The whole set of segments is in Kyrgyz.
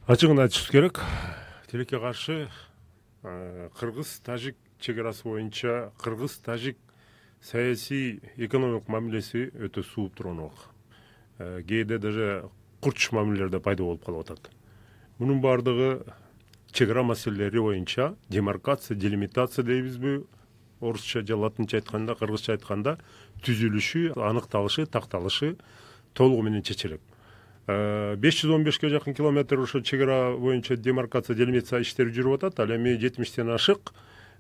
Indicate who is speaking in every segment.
Speaker 1: Ачыгын айтышыбыз керек. Тилекке каршы кыргыз-тажик чек арасы боюнча кыргыз-тажик саясий экономикалык мамилеси өтө сууп турган убак. Кээде даже курч мамилелер да пайда болуп калып атат. Мунун баардыгы чек ара маселелери боюнча демаркация, делимитация дейбизби, орусча же латынча айтканда, кыргызча айтканда түзүлүшү, аныкталышы, такталышы толугу менен чечилет. 515ке жакын километр ошо чек ара боюнча демаркация, делимитация иштери жүрүп атат. Ал эми 70тен ашык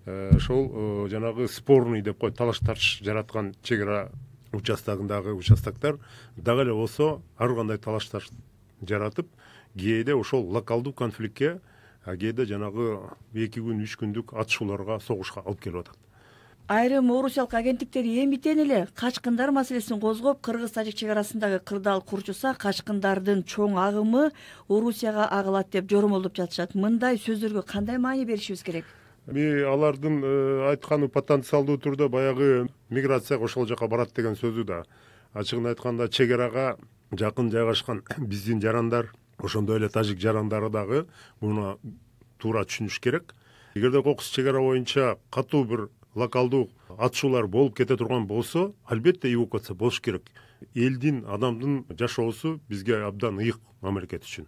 Speaker 1: ошол жанагы спорный деп коет, талаш тартыш жараткан чек ара участогундагы участоктор дагы эле болсо ар кандай талаш тартыш жаратып, кээде ошол локалдуу конфликтке, кээде жанагы 2 күн, 3 күндүк атышууларга, согушка алып келип атат.
Speaker 2: Айрым орусиялык агенттиктер эмитен эле качкындар маселесин козгоп, кыргыз-тажик чек арасындагы кырдаал курчуса, качкындардын чоң агымы Орусияга агылат деп жоромолдоп жатышат. Мындай сөздөргө кандай маани беришибиз керек?
Speaker 1: Алардын айтканы потенциалдуу түрдө баягы миграцияга ошол жака барат деген сөзү да. Ачыгын айтканда чек арага жакын жайгашкан биздин жарандар, ошондой эле тажик жарандары дагы муну туура түшүнүш керек. Эгерде кокус чек ара боюнча катуу бир локалдуу атышуулар болуп кете турган болсо, албетте эвакуация болуш керек. Элдин, адамдын жашоосу бизге абдан ыйык мамлекет үчүн.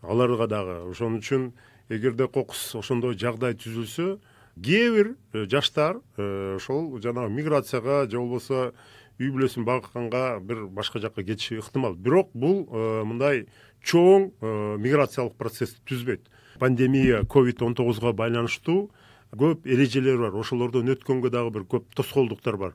Speaker 1: Аларга дагы ошон үчүн эгерде кокус ошондой жагдай түзүлсө, кээ бир жаштар ошол жанагы миграцияга же болбосо үй бүлөсүн багканга бир башка жакка кетиши ыктымал. Бирок бул мындай чоң миграциялык процессти түзбөйт. Пандемия COVID-19 байланыштуу көп эрежелер бар. Ошолордон өткөнгө дагы бир көп тоскоолдуктар бар.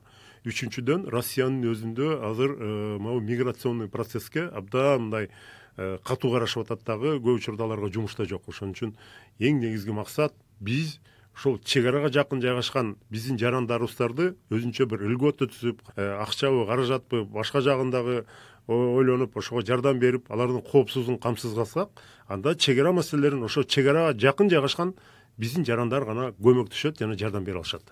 Speaker 1: Үчүнчүдөн, Россиянын өзүндө азыр могу миграционный процесске абдан мындай катуу карашып атат дагы, көп учурда аларга жумуш да жок. Ошон үчүн эң негизги максат биз ошол чек арага жакын жайгашкан биздин жарандарыбыздарды өзүнчө бир льгота түзүп, акчабы, каражатпы, башка жагындагы ойлонуп, ошого жардам берип, алардын коопсуздугун камсыз кылсак, анда чек ара маселелерин ошо чек арага жакын жайгашкан биздин жарандар гана көмөктөшөт жана жардам бере алышат.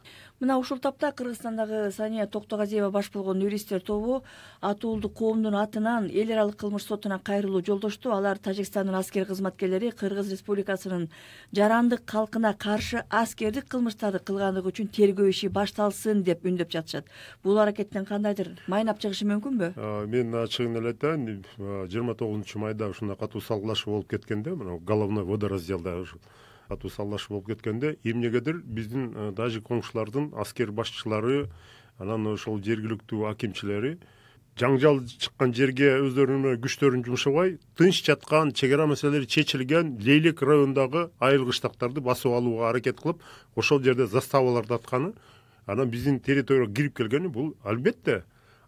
Speaker 2: Мына ушул тапта Кыргызстандагы Сания Токтогазиева баш болгон юристтер тобу атуулдук коомдун атынан эл аралык кылмыш сотуна кайрылуу жолдошту. Алар Тажикстандын аскер кызматкерлери Кыргыз Республикасынын жарандык калкына каршы аскердик кылмыштарды кылгандыгы үчүн тергөө иши башталсын деп үндөп жатышат. Бул аракеттен кандайдыр майнап чыгышы мүмкүнбү?
Speaker 1: Мен ачыгын эле айтайын, 29 майда ушундай катуу салгылашуу болуп кеткенде, мына головной водоразделда катуу салгылашуу болуп кеткенде, эмнегедир биздин тажик коңшулардын аскер башчылары, анан ошол жергиликтүү акимчилери жаңжал чыккан жерге өздөрүнүн күчтөрүн жумшабай, тынч жаткан чек ара маселелери чечилген Лейлек районундагы айыл кыштактарды басып алууга аракет кылып, ошол жерде заставаларды атканы, анан биздин территорияга кирип келгени, бул албетте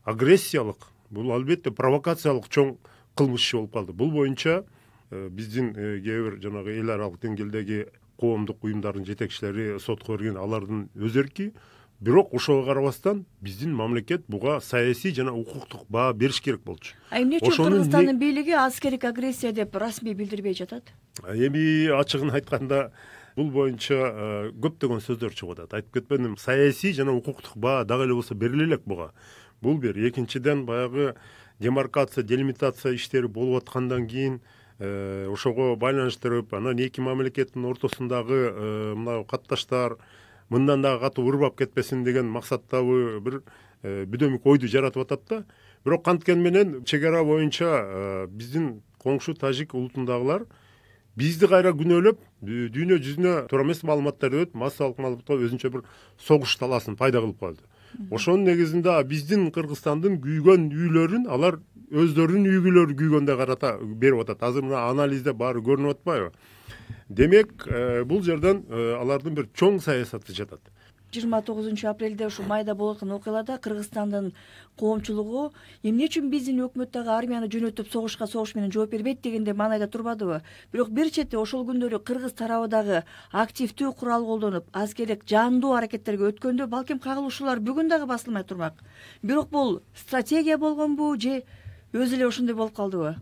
Speaker 1: агрессиялык, бул албетте провокациялык чоң кылмыш иши болуп калды. Бул боюнча биздин кээ бир жанагы эл аралык деңгээлдеги коомдук уюмдардын жетекчилери сотко берген, алардын өз эрки. Бирок ошого карабастан биздин мамлекет буга саясий жана укуктук баа бериш керек болчу.
Speaker 2: Эмне үчүн Кыргызстандын бийлиги аскердик агрессия деп расмий билдирбей жатат?
Speaker 1: Эми ачыгын айтканда бул боюнча көптөгөн сөздөр чыгып атат. Айтып кетпедимби, саясий жана укуктук баа дагы эле болсо бериле элек буга. Бул бир. Экинчиден, баягы демаркация, делимитация иштери болуп аткандан кийин ошого байланыштырып, анан эки мамлекеттин ортосундагы мына катташтар мындан дагы катуу ырбап кетпесин деген максаттагы бир бүдөмүк ойду жаратып атат да. Бирок канткени менен чек ара боюнча биздин коңшу тажик улутундагылар бизди кайра күнөөлөп, дүйнө жүзүнө туура эмес маалыматтар өтүп, массалык маалыматка өзүнчө бир согуш талаасын пайда кылып калды. Ошонун негизинде биздин Кыргызстандын күйгөн үйлөрүн алар өздөрүнүн үйгүлөрү күйгөндөй карата берип атат. Азыр мына анализде баары көрүнүп атпайбы? Демек, бул жерден алардын бир чоң саясаты жатат.
Speaker 2: 29 апрелде ушу майда болгон окуяларда Кыргызстандын коомчулугу эмне үчүн биздин өкмөт дагы армияны жөнөтүп согуш менен жооп бербейт дегенде маанайда турбадыбы? Бирок бир чети ошол күндөрү кыргыз тарабы дагы активдүү курал колдонуп, аскердик жандуу аракеттерге өткөндө балким кагылышуулар бүгүн дагы басылмай турмак. Бирок бул стратегия болгонбу же өзү эле ошондой болуп калдыбы?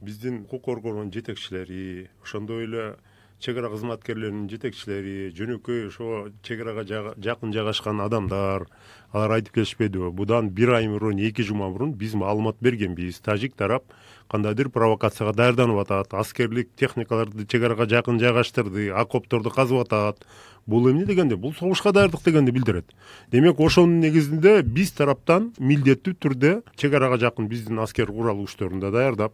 Speaker 1: Биздин укук коргоонун жетекчилери, ошондой эле чек ара кызматкерлеринин жетекчилери, жөнөкөй ошо чек арага жакын жайгашкан адамдар алар айтып келишпедиби? Будан 1 ай мурун, 2 жума мурун биз маалымат бергенбиз. Тажик тарап кандайдыр провокацияга даярданып атат, аскерлик техникаларды чек арага жакын жайгаштырды, окопторду казып атат. Бул эмне дегенде? Бул согушка даярдык дегенди билдирет. Демек, ошонун негизинде биз тараптан милдеттүү түрдө чек арага жакын биздин аскер курал күчтөрүн да даярдап,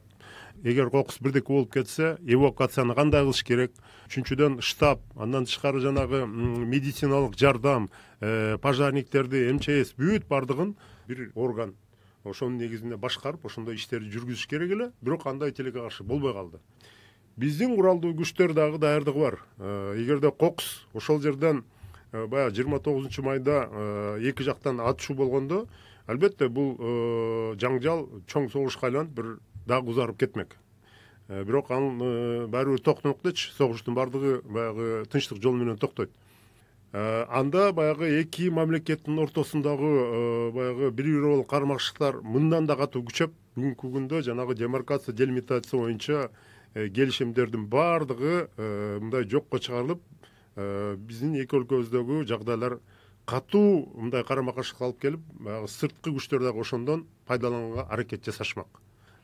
Speaker 1: эгер кокус бирдеке болуп кетсе, эвакуацияны кандай кылыш керек? Үчүнчүдөн штаб, андан тышкары жанагы медициналык жардам, пожарниктерди, МЧС бүт бардыгын бир орган ошонун негизинде башкарып, ошондой иштерди жүргүзүш керек эле. Бирок андай тилекке каршы болбой калды. Биздин куралдуу күчтөр дагы даярдыгы бар. Эгерде кокус ошол жерден баягы 29 майда эки жактан атышуу болгондо, албетте бул жаңжал чоң согушка айланып бир дагы узарып кетмек. Бирок анын баары бир токтомок дечи, согуштун бардыгы баягы тынчтык жолу менен токтойт. Анда баягы эки мамлекеттин ортосундагы баягы бири боло кармакчылыктар мындан да катуу күчөп, бүгүнкү күндө жанагы демаркация, делимитация боюнча келишимдердин бардыгы мындай жокко чыгарылып, биздин эки өлкөбүздөгү жагдайлар катуу мындай карама каршылыкка алып келип, баягы сырткы күчтөр дагы ошондон пайдаланганга аракет жасашмак.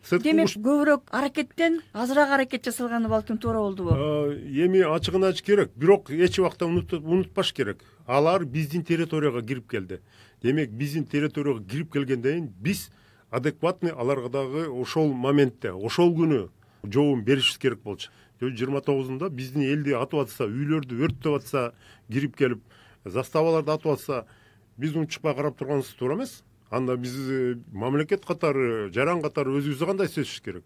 Speaker 2: Демек, көбүрөөк аракеттен азыраак аракет жасалганы балким туура болдубу?
Speaker 1: Эми ачыгын айтыш керек, бирок эч убакта унутпаш керек. Алар биздин территорияга кирип келди. Демек, биздин территорияга кирип келгенден кийин биз адекватный аларга дагы ошол моментте, ошол күнү жообун беришибиз керек болчу. 29-унда биздин элди атып атса, үйлөрдү өрттөп атса, кирип келип, заставаларды атып атса, биз унчукпай карап турганыбыз туура эмес. Анда биз мамлекет катары, жаран катары өзүбүздү кандай сезишибиз керек?